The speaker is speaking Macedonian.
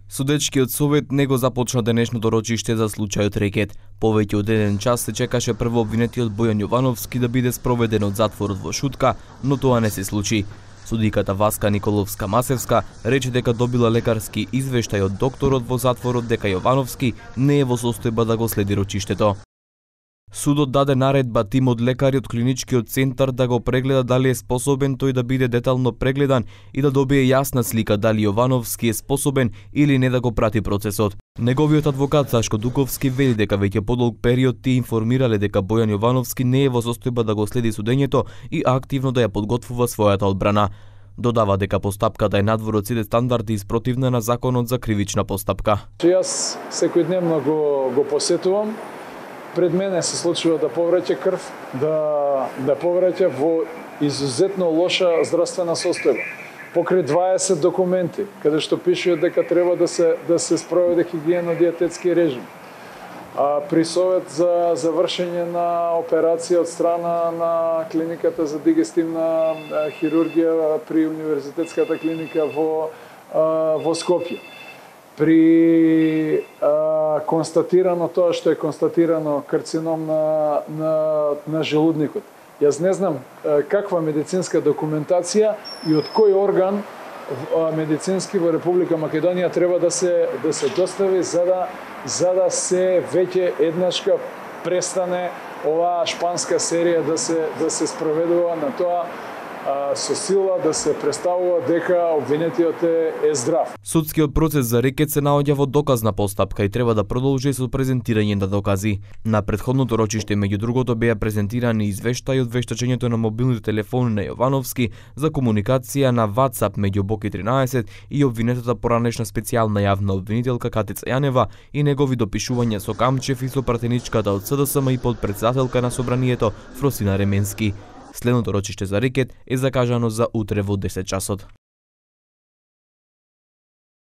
Судечкиот совет не го започна денешното рочиште за случајот Рекет. Повеќе од 1 час се чекаше прво обвинетиот Бојан Јовановски да биде спроведен од затворот во Шутка, но тоа не се случи. Судиката Васка Николовска-Масевска рече дека добила лекарски извештај од докторот во затворот дека Јовановски не е во состојба да го следи рочиштето. Судот даде наредба тимот лекари од клиничкиот центар да го прегледа дали е способен тој да биде детално прегледан и да добие јасна слика дали Јовановски е способен или не да го прати процесот. Неговиот адвокат Сашко Дуковски вели дека веќе подолг период ти информирале дека Бојан Јовановски не е во состојба да го следи судењето и активно да ја подготвува својата одбрана. Додава дека постапката е надвор од сите стандарди и спротивна на законот за кривична постапка. Јас секојдневно го посетувам. Пред мене се случува да повраќа крв, да повраќа во изузетно лоша здравствена состојба. Покрај 20 документи, каде што пишува дека треба да се спроведе хигиено-диететски режим. При совет за завршење на операција од страна на клиниката за дигестивна хирургија при универзитетската клиника во Скопје. При констатирано тоа што е констатирано карцином на желудникот. Јас не знам каква медицинска документација и од кој орган медицински во Република Македонија треба да се достави за да се веќе еднашка престане оваа шпанска серија да се спроведува на тоа со сила да се представува дека обвинетиот е здрав. Судскиот процес за Рекет се наоѓа во доказна постапка и треба да продолжи со презентирање на докази. На претходното рочиште меѓу другото беа презентирани извештаи од вештачењето на мобилните телефони на Јовановски за комуникација на WhatsApp меѓу Боки 13 и обвинетата поранешна специјална јавна обвинителка Катица Јанева и негови допишувања со Камчев и со пратеничката од СДСМ и подпредседателка на собранието Фросина Ременски. Следното рочиште за Рекет е закажано за утре во 10 часот.